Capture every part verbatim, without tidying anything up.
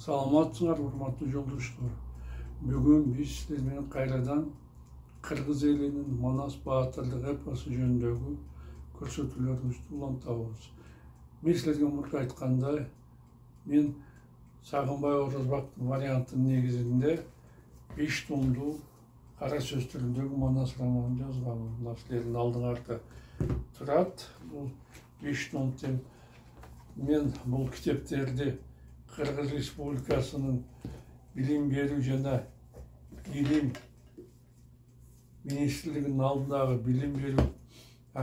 Саламатсыңар, урматтуу жолдоштор. Бүгүн биз силер менен кайрадан кыргыз элинин Манас баатырлык эпосу жөнүндөгү көрсөтүүлөрүбүздү улантабыз. Мен силерге мурда айткандай, мен Сагынбай Орозбактын вариантынын негизинде беш томдуу кара сөз түрүндөгү Манас романын жазганмын. Мына силердин алдыңарда турат. Бул беш том тең. Мен бул китептерди Кыргыз Республикасынын билим берүү жана илим министрлигинин алдындагы билим берүү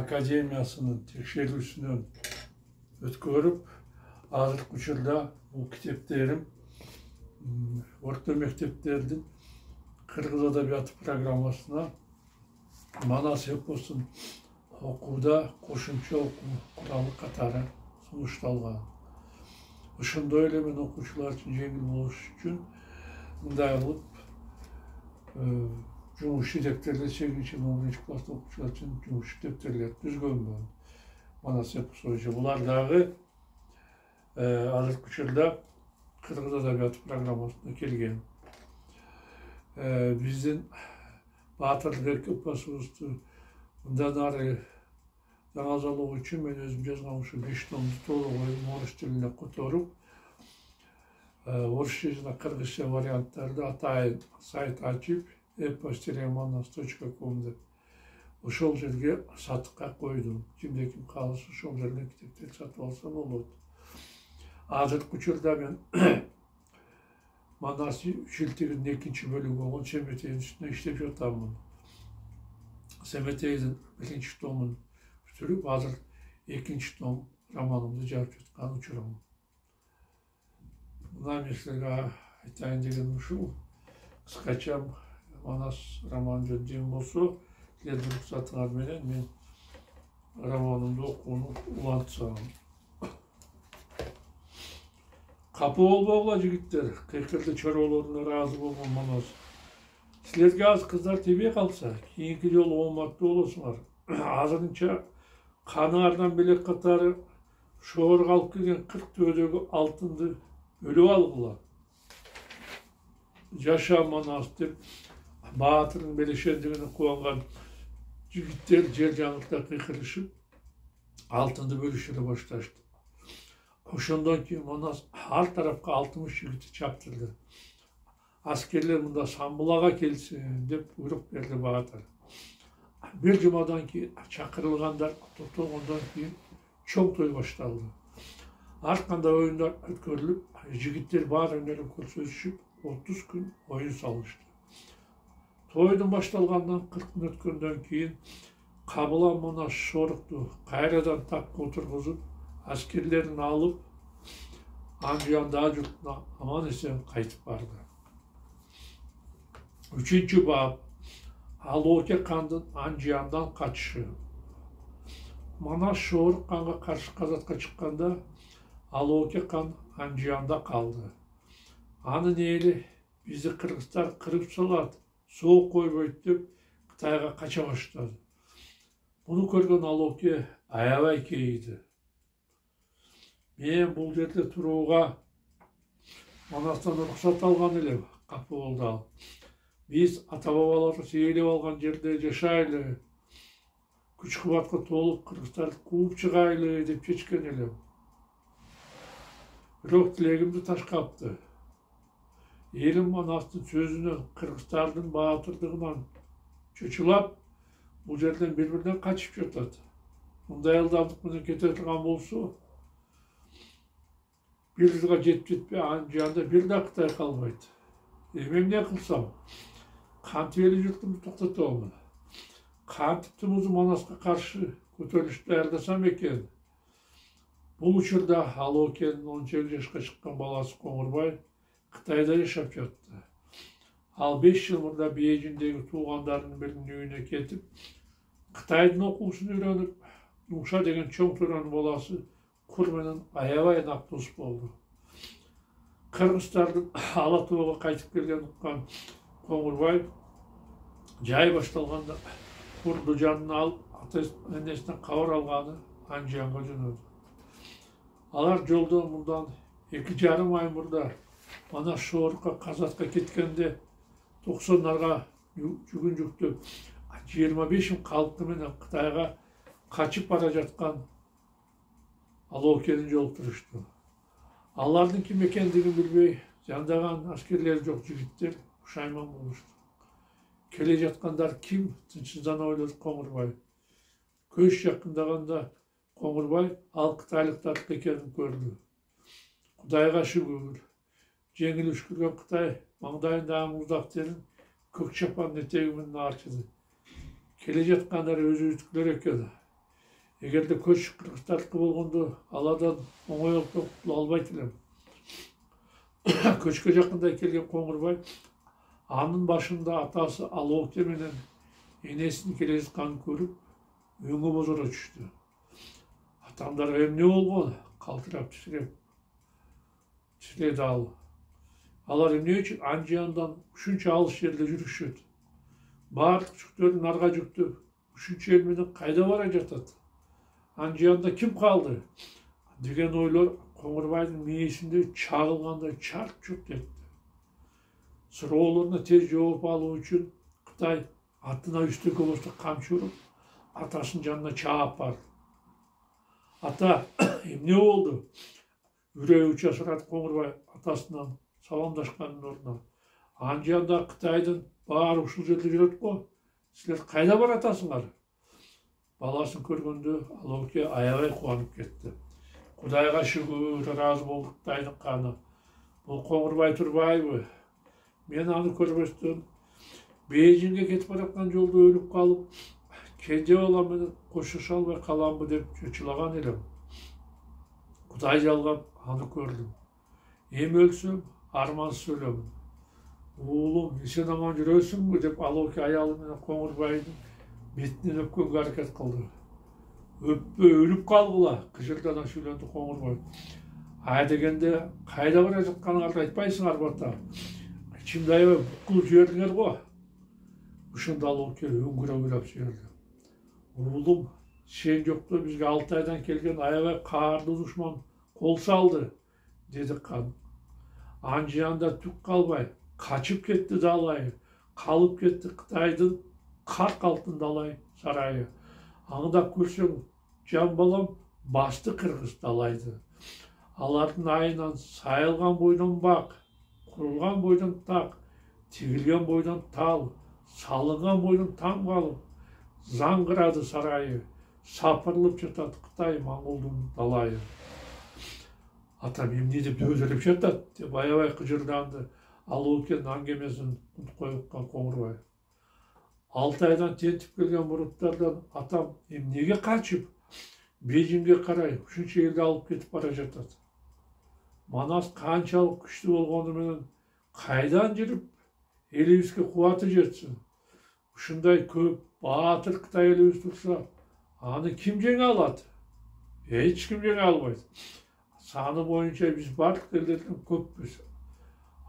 академиясынын текшерүүсүнөн өткөрүп, азыркы учурда бул китептерим орто мектептердин кыргыз адабияты программасына Манас эпосун окууда кошумча окуу куралы катары сунушталган. Ошондой эле мен окуучулар үчүн жеңил болуш үчүн мындай кылып жумуш дептерлер сегизинчи он биринчи класста окуучулар үчүн жумуш дептерлер түзгөнмүн. Манас эпосу боюнча булар дагы азыркы учурда кыргыз адабияты программасына келген. Биздин баатырлык эпосубузду мындан ары жаңазалоо үчүн мен өзүм жазган ушу беш томду толук орус тилине которуп, орусча жана кыргызча варианттарды атайын сайт ачып эпос манас точка ком деп ошол жерге сатыкка койдум. Кимде ким кааласа ошол жерден китептерди сатып алса болот. Азыркы учурда мен Манас шилтигинин экинчи бөлүгү болгон Семетейдин үстүнө иштеп жатамын. Семетейдин биринчи томун бүтүрүп, азыр экинчи том романымды жазып жаткан учурум. Мына мен силерге айтайын дегеним ушул. Кыскача Манас романы жөнүндө болсо, силердин уруксатыңар менен мен романымды окууну улантсам. Капы болбогула жигиттер, кыйкырды чоролоруна ыраазы болгон Манас. Силерге аз кыздар тийбей калса, кийинки жолу ооматтуу болосуңар. Азырынча канаардан белек катары шоорго алып келген кырк төбөдөгү алтынды өлүп алгыла. Жаша Манас деп баатырдын белешендигине кубанган жигиттер жер жаңыртта кыйкырышып, алтынды бөлүшүрө башташты. Ошондон кийин Манас ар тарапка алтымыш жигитти чаптырды. Аскерлер мында Самбулага келсин деп буйрук берди баатыр. Бир жумадан кийин чакырылгандар топтолгондон кийин чоң той башталды. Ар кандай оюндар өткөрүлүп, жигиттер баары менен көрсөтүшүп, отуз күн оюн салышты. Тойдун башталгандан кырк күн өткөндөн кийин кабылан Манас шоорукту кайрадан такка отургузуп, аскерлерин алып, Анжуяндагы журтуна аман эсен кайтып барды. Үчүнчү бап. Алооке кандын Анжуяндан качышы. Манас Шоорук канга каршы казатка чыкканда, Алооке кан Анжуянда калды. Анын эли бизди кыргыздар кырып салат, соо койбойт деп Кытайга кача баштады. Муну көргөн Алооке аябай кейиди. Мен бул жерде турууга Манастан уруксат алган элем, капы болду ал. Биз ата-бабаларыбыз ээлеп алган жерде жашайлы, күч-кубатка толуп кыргыздарды кууп чыгайлы деп чечкен элем. Бирок тилегимди ташкапты. Элим Манастын сөзүнөн, кыргыздардын баатырдыгынан чочулап, бул жерден бири-биринен качып жатат. Мындай ылдамдык менен кете турган болсо, бир жылга жетип жетпей Анжуянда бир да Кытай калбайт. Эми эмне кылсам? Кантип эли журтумду токтотобун? Кантип тумузу Манаска каршы көтөрүлүштү даярдасам экен? Бул учурда Алоокенин он сегиз жашка чыккан баласы Коңурбай Кытайда жашап жатты. Ал беш жыл мурда Бейжиңдеги туугандарынын биринин үйүнө кетип, Кытайдын окуусун үйрөнүп, Нуша деген чоң төрөнүн баласы Кур менен аябай нак дос болду. Кыргыздардын Ала тоого кайтып келгенин уккан Коңурбай жай башталганда Курду жанына алып, ата-энесинен кабар алганы Анжуянга жөнөдү. Алар жолдо мындан эки жарым ай мурда Мана Шорукка Казакка кеткенде токсондарга жүгүн жүктөп жыйырма беш миң калкы менен Кытайга качып бара жаткан Алоокени жолуктурушту. Алардын ким экендигин билбей жандаган аскерлери жок жигиттер пушайман болушту. Келе жаткандар ким? Тынчсыздана ойлоду Коңурбай. Көз жакындаганда Коңурбай ал кытайлыктардыкы экенин көрдү. Кудайга шүгүр. Жеңил үшкүргөн Кытай маңдайындагы муздак терин көк чапандын этеги менен арчыды. Келе жаткандар өзүбүздүкүлөр экен. Эгерде көч кыргызтардыкы болгондо аладан оңойлуктан кутула албайт элем. Көчкө жакындай келген Коңурбай анын башында атасы Алооке менен энесинин келе жатканын көрүп, өңү бозоро түштү. Атамдарга эмне болгон? Калтырап титиреп титиреди ал. Алар эмне үчүн Анжияндан ушунча алыс жерде жүрүшөт? Баардык жүктөрүн нарга жүктөп, ушунча эл менен кайда бара жатат? Анжиянда ким калды? Деген ойлор Коңурбайдын мээсинде чагылгандай чарт-чурт этти. Суроолоруна тез жооп алуу үчүн Кытай атына үстөккө босто камчы уруп, атасынын жанына чаап барды. Ата, эмне болду? Үрөйү уча сурады Коңурбай атасынан саламдашкандын ордуна. Анжиянда Кытайдын баары ушул жерде жүрөт го. Силер кайда баратасыңар? Баласын көргөндө Алооке аябай кубанып кетти. Кудайга шүгүр, ыраазы болду Кытайдын каны. Бул Коңурбай турбайбы? Мен аны көрбөстөн Бейжиңге кетип бараткан жолдо өлүп калып, кенже балам менен коштошо албай каламбы деп чочулаган элем. Кудай жалгап аны көрдүм. Эми өлсөм, армансыз өлөмүн. Уулум, сен аман жүрөсүңбү деп Алооке аялы менен Коңурбайдын бетинен өпкөнгө аракет кылды. Өппө, өлүп калгыла, кыжырдана сүйлөндү Коңурбай. Ай дегенде кайда бара жатканыңарды айтпайсыңарбы ата? Ичимде аябай букулуп жибердиңер го. Ошондо Алооке өңгүрө ыйлап жиберди. Уулум, сен жокто бизге алты айдан келген аябай каардуу душман кол салды, деди кан. Анжиянда түк калбай, качып кетти далай, калып кетти Кытайдын кырк алтын далай сарайы. Аңдап көрсөң, жан балам басты кыргыз далайды. Алардын айынан сайылган бойдон бак, курулган бойдон так, тигилген бойдон тал, салынган бойдон там калып, заңгырады сарайы, сапырылып жатат Кытай моңголдун далайы. Атам эмне деп дөзөлөп жатат деп аябай кыжырданды Алоокенин аңгемесин унутуп койгон Коңурбай. Алты айдан тентип келген буруттардан атам эмнеге качып Бейжиңге карай ушунча элди алып кетип бара жатат? Манас канчалык күчтүү болгону менен кайдан жүрүп элибизге кубаты жетсин? Ушундай көп баатыр Кытай элибиз турса, аны ким жеңе алат? Эч ким жеңе албайт. Саны боюнча биз бардык элдерден көппүз.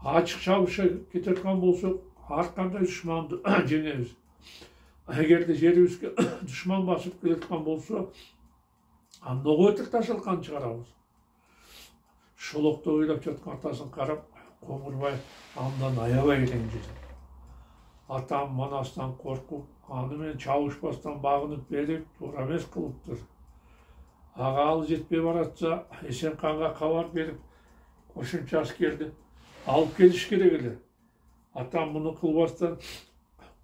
Ачык чабышка кетаткан болсок, ар кандай душманды жеңебиз. Эгерде жерибизге душман басып келаткан болсо, андого өтүр ташалкан чыгарабыз. Шолокто ыйлап жаткан атасын карап, Коңурбай андан аябай ренжиди. Атам Манастан коркуп, аны менен чабышпастан багынып берип, туура эмес кылыптыр. Ага ал жетпей баратса, Эсенканга кабар берип, кошумча аскерди алып келиш керек эле. Атам муну кылбастан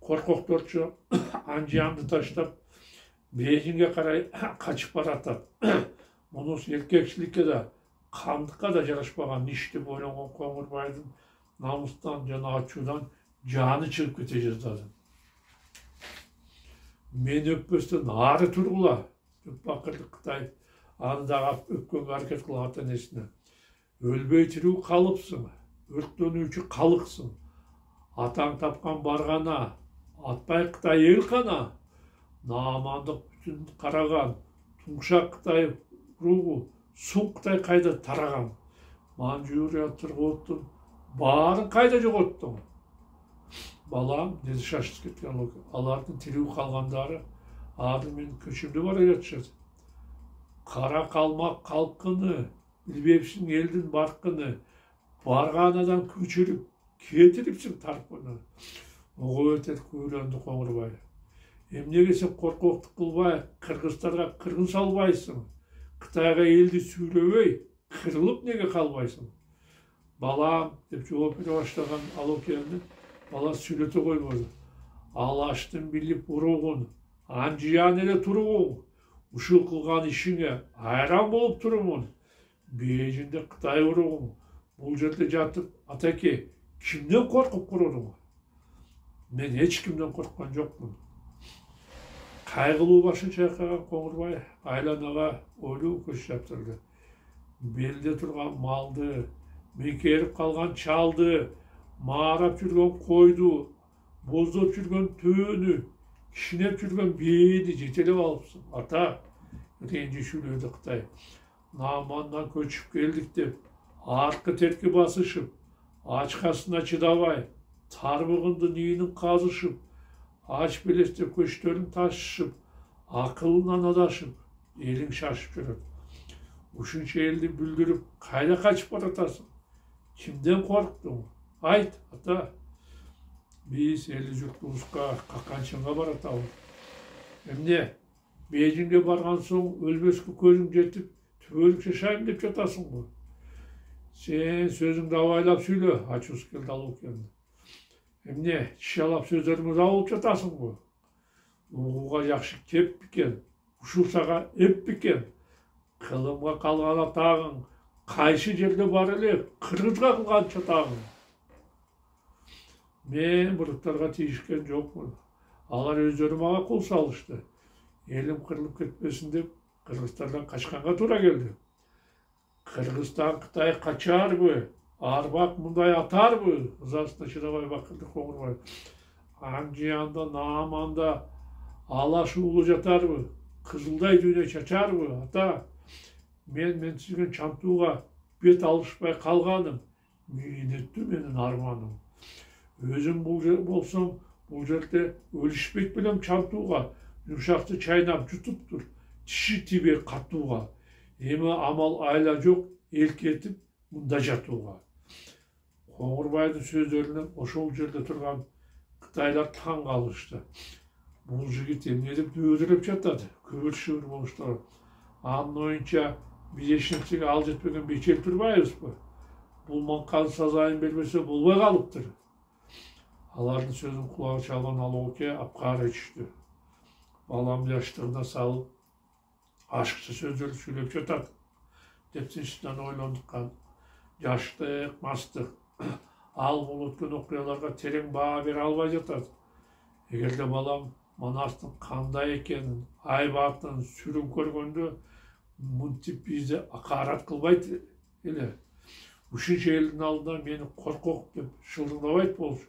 коркокторчу Анжиянды таштап Бейжиңге карай качып баратат. Мунусу эркекчиликке да, кандыкка да жарашпаган иш деп ойлогон Коңурбайдын намыстан жана ачуудан жаны чыгып кете жаздады. Мен өппөстөн ары тургула деп бакырды Кытай. Аны дагы өпкөнгө аракет кылган ата энесине. Өлбөй тирүү калыпсың, өрттөнүүчү калыксың. Атаң тапкан баргана, атпай Кытай эл кана. Наамандык бүтүн караган, тумшак Кытай ругу, суң Кытай кайда тараган. Манчжурия, Тырготтун баарын кайда жоготтуң? Балам, деди шашып кеткен Алооке, алардын тирүү калгандары азыр менин көчүмдө бара жатышат. Кара калмак калкыны, билбепсиң элдин баркыны, барган адам көчүрүп кетирипсиң тарпыны. Ого өтөт күйлөндү Коңурбай. Эмнеге сен коркоктук кылбай, кыргыздарга кыргын салбайсың? Кытайга элди сүйлөбөй, кырылып неге калбайсың? Балам, деп жооп бере баштаган Алокени бала сүйлөтө койбоду. Алаштын билип уругун, анжыян эле туругуң. Ушул кылган ишиңе айран болуп турумун. Бейжиңде Кытай уругуң. Бул жерде жатып, атаке, кимден коркуп курудуң? Мен эч кимден корккан жокмун. Кайгылуу башын чайкаган Коңурбай айланага ойлуу көз чаптырды. Белде турган малды, мекерип калган чалды, маарап жүргөн койду, боздоп жүргөн төөнү, кишинеп жүргөн бээни жетелеп алыпсың. Ата, ренжишүүлөдү Кытай. Наамандан көчүп келдик деп, аркы терки басышып, ачкасына чыдабай, тарбыгындын ийинин казышып, ач белестеп көчтөрүн ташышып, акылынан адашып, элиң шашып жүрөт. Ушунча элди бүлдүрүп, кайда качып баратасың? Кимден корктуң? Айт, ата. Биз элди журтубузга каканчынга баратабыз. Эмне, Бейжиңге барган соң өлбөскө көзүң жетип, түбөлүк жашайм деп жатасыңбы? Сен сөзүңдү абайлап сүйлө, ачуусу келди Алокени. Эмне, чишалап сөздөрүңдү алып жатасыңбы? Угууга жакшы кеп бекен, ушул сага эп бекен. Кылымга калган атагың, кайсы жерде бар эле, кыргызга кылган чатагың. Мен буруттарга тийишкен жокмун. Алар өздөрү мага кол салышты. Элим кырылып кетпесин деп, кыргыздардан качканга туура келди. Кыргызстан Кытай качарбы? Арбак мындай атарбы? Ызасына чыдабай бакырды Коңурбай. Анжыянда, Нааманда алаш уулу жатарбы? Кызылдай дүйнө чачарбы? Ата, мен менсизген чантууга бет алышпай калганым мүйнөттү менин арманым. Өзүм бул болсом, бул жерде өлүшпөйт белем чантууга, жумшакты чайнап жутуптур, тиши тибей катууга. Эми амал айла жок, элкетип мында жатууга. Коңурбайдын сөздөрүнө ошол жерде турган кытайлар таң калышты. Бул жигит эмне деп дөөдүрөп жатат, күбүр-шүбүр болушту. Анын оюнча биз эч нерсеге ал жетпеген бечел турбайбызбы? Бул манканы сазайын бербесе болбой калыптыр. Алардын сөзүн кулагы чалган Алоке апкары түштү. Балам жаштыгына салып, ашыкча сөздөр сүйлөп жатат деп тынчтан ойлондуккан. Жаштык, мастык, ал бул өткөн окуяларга терең баа бере албай жатат. Эгерде балам Манастын кандай экенин, айбатын сүрүн көргөндө, мынтип бизди акарат кылбайт эле. Ушунча элдин алдында мени коркок деп шылдыңдабайт болчу.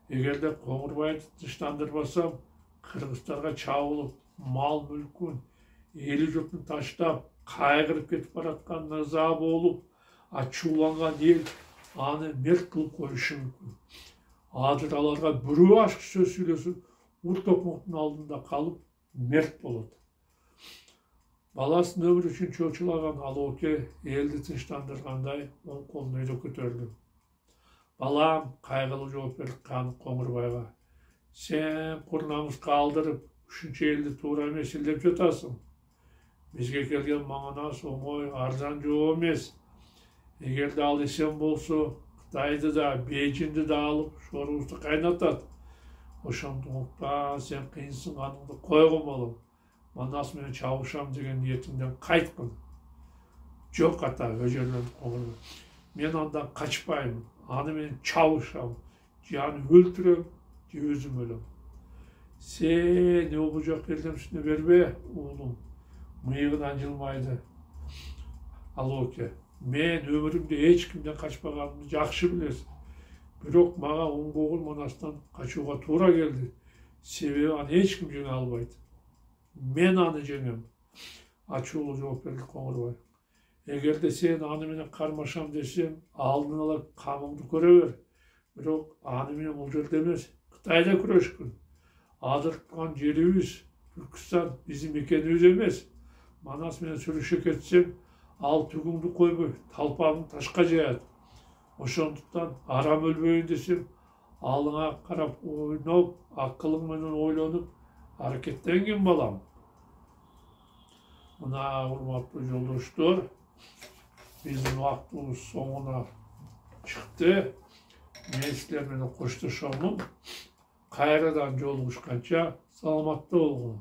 Эгерде Коңурбайды тынчтандырбасам, кыргыздарга чабылып, мал мүлкүн, эли журтун таштап, кайгырып кетип бараткан ыза болуп, ачууланган эл аны мерт кылып коюшу мүмкүн. Азыр аларга бирөө ашык сөз сүйлөсү, урт окмоктун алдында калып, мерт болот. Баласын өмүр үчүн чочулаган Алоке элди тынчтандыргандай оң колун өйдө көтөрдү. Балам, кайгылуу жооп берди Коңурбайга. Сен кур намыска алдырып, ушунча элди туура эмес илдеп жатасың. Бизге келген маңанас оңой, арзан жоо эмес. Эгерде ал эсен болсо, Кытайды да, Бейжиңди да алып, шорубузду кайнатат. Ошондуктан сен кыйынсынганыңды койгон балам. Манас менен чабышам деген ниетиңден кайткын. Жок ата, өжөлөндү Коңурбай. Мен андан качпайм, аны менен чабышам. Же аны өлтүрөм, же өзүм өлөм. Сен бул жок элдемсине бербе, уулум. Мыйыгынан жылмайды. Алоке, мен өмүрүмдө эч кимден качпаганымды жакшы билесиң. Бирок мага оңгогул Манастан качууга туура келди. Себеби аны эч ким жеңе албайт. Мен аны жеңем. Ачуулуу жооп берди Коңурбай. Эгерде сен аны менен кармашам десең, алдын ала камыңды көрө бер. Бирок аны менен бул жерде эмес, Кытайда күрөшкүн. Азыр турган жерибиз Түркүстан биздин мекенибиз эмес. Манас менен сүрүшө кетсең, ал түгүңдү койбой, талпагың ташка жаят. Ошондуктан арам өлбөйүн десең, алыңа карап ойноп, акылың менен ойлонуп аракеттенгин балам. Мына урматтуу жолдоштор, биздин убактыбыз соңуна чыкты. Мен силер менен коштошомун. Кайрадан жолугушканча саламатта болгула.